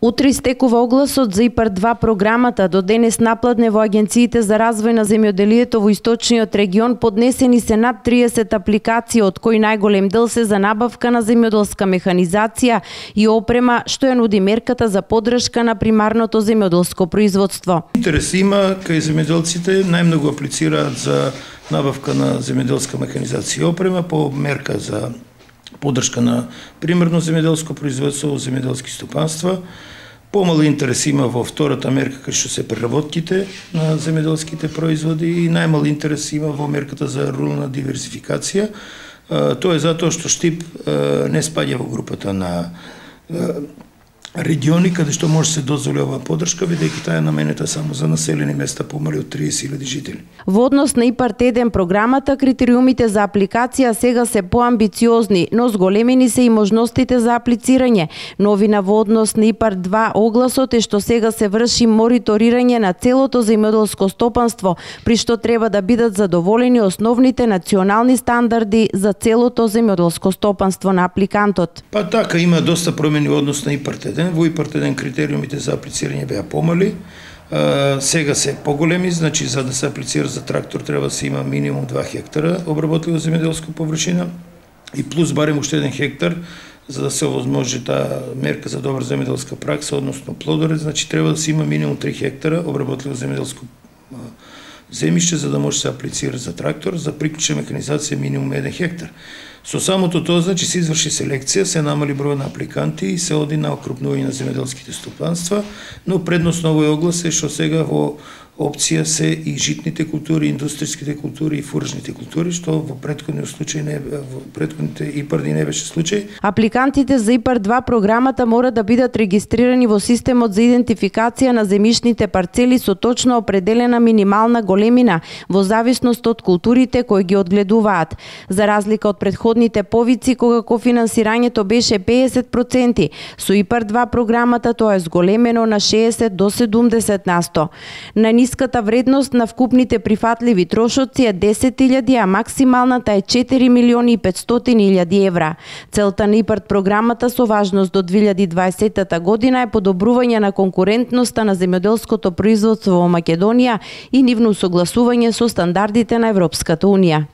Утре истекува огласот за ИПАР-2 програмата. До денес напладне во агенциите за развој на земјоделието во источниот регион поднесени се над 30 апликации, од кои најголем дел се за набавка на земјоделска механизација и опрема, што ја нуди мерката за поддршка на примарното земјоделско производство. Интерес има кај земјоделците, најмногу аплицираат за набавка на земјоделска механизација и опрема по мерка за поддршка на примерно земјоделско производство во земјоделски стопанства. Помал интерес има во втората мерка кај што се преработките на земјоделските производи и најмал интерес има во мерката за рурална диверзификација. Тоа е затоа што Штип не спаѓа во групата на региони каде што може се дозволи оваа поддршка, бидејќи таа е наменета само за населени места помали од 30.000 жители. Во однос на ИПАР-1 програмата, критериумите за апликација сега се поамбициозни, но зголемени се и можностите за аплицирање. Новина во однос на ИПАР-2 огласот е што сега се врши мониторирање на целото земјоделско стопанство, при што треба да бидат задоволени основните национални стандарди за целото земјоделско стопанство на апликантот. Па така, има доста промени во однос на ИПАР-1. Во ИПАР-1 критериумите за аплицирање беа помали, сега се поголеми, значи за да се аплицира за трактор треба да се има минимум 2 хектара обработлива земјоделска површина и плюс барем уште 1 хектар за да се овозможи таа мерка за добра земјоделска пракса, односно плодоред, значи треба да се има минимум 3 хектара обработливо земјоделско земјиште за да може се аплицира за трактор, за приклучна механизација минимум 1 хектар. Со самото тоа, значи, се изврши селекција, се намали број на апликанти и се оди на окрупнување на земјоделските стопанства, но предносно овој оглас е што сега во опција се и житните култури, индустријските култури и фуражните култури, што во претходниот случај во претходните ИПАР-и не беше случај. Апликантите за ИПАР-2 програмата мора да бидат регистрирани во системот за идентификација на земјишните парцели со точно определена минимална големина во зависност од културите кои ги одгледуваат. За разлика од претходните повици кога кофинансирањето беше 50%, со ИПАР-2 програмата тоа е зголемено на 60 до 70%. На ниската вредност на вкупните прифатливи трошоци е 10.000, а максималната е 4.500.000 евра. Целта на ИПАР програмата со важност до 2020 година е подобрување на конкурентноста на земјоделското производство во Македонија и нивно согласување со стандардите на Европската унија.